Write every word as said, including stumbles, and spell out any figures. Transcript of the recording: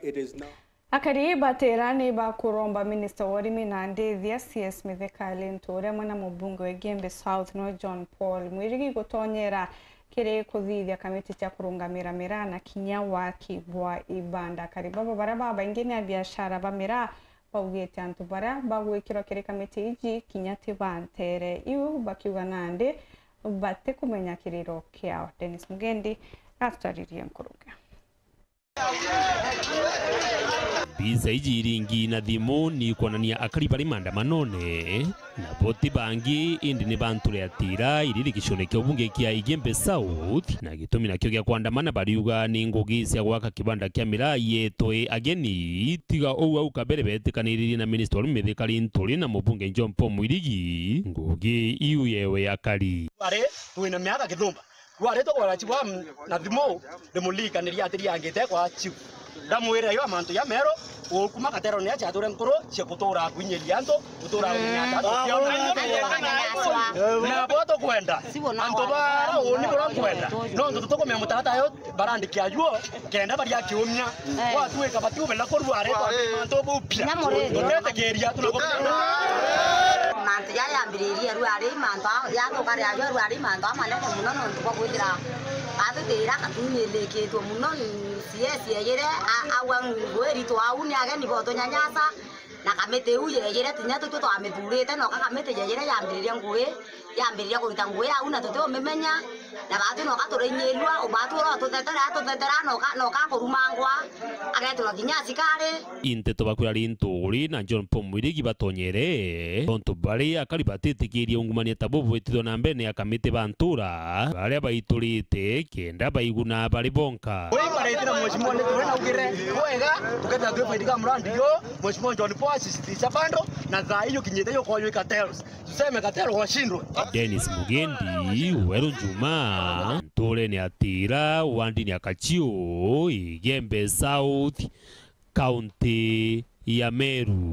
It is not. Akari batera ni bakuromba minista wa urimi na ndithia C S Mithika Linturi amwe na mubunge wa Igembe South no John Paul Mwirigi gutonyera kiri kuthithia kamiti cia kurungamira miraa na kinya waki bwa ibanda. Akari baba baria babaingi ni abiashara ba miraa baugite antu baria bagwikirwa kiri kamiti iji kinya ti ba ntere iu, bakiuga nandi batikumenya kiriro kiao. Dennis Mugendi atutaririe nkuruki. Mbica iji iringi na thimu ni kwonania akari bari maandamanone, nabo ti bangi indi ni ba nture ya Tira iri gicione kia ubunge kia Igembe South, na gitumi nakio gia kwandamana bariuga ni ngugi cia gwaka kibanda kia miraa yetwe ageni. Tiga uu, au kabere betikaniririe na minista wa urimi Mithika Linturi na mubunge John Paul Mwirigi ngugi iu yewe akari. Ari twina miaka kithumba. Rwari tugwara chief wa m-, na thimu, ndimurikaniria atiriangite kwa chief. Ndamwira yo mantu ya mero, ukuma Katero ni acha ature nkuru cia kutura kwinyiria antu, kutura kwinyiria antu. Na bo tukwenda, antu bara uni bura kwenda. No ntu tukumenya mutarata yo barandiki ajuo, kenda baria kiumia. Gwatuika batiumenya kurua ari kwa mantu bupia. Tutetikiria, tunakumenya. Mantu jaria yambiririe rwari mantu a-, yathuka riajo rwari mantu amanene muno nontu bwa kwithira batutira katunyirikitwe muno. CS yeyire a-, agwa ngui iritu au ni ageni botunyanyasa, na kamiti iu yeyire tinya tutwe twamithurite, noka kamiti yeyire yambiririe ngui, yambiriria kurita ngui au na tutiumimenya, na batwi noka turainyirirua, ubatwi ura ututhetere, atuthetere, noka, noka kurumangwa, agetirwa kinya asikari. Inteto bakwira Linturi na John Paul Mwirigi batonyere, tontu bari akari batitikirie ungumania ta bubu bwitithwa na mbere ni akamiti ba ntura, baria baiturite kenda baiguna bari bonka. Ui baretira mheshimiwa Linturi na ugire bwega, tukethira twifaidika murandi yo, mheshimiwa John Paul asisitiza bando, na thaa iyo kinyite yo koyo ikatels. Tuseme Katero washindwe. Dennis Mugendi, Weru Juma, nturene ya Tira, wandini ya Kachiu, Igembe South, kaunti ya Meru.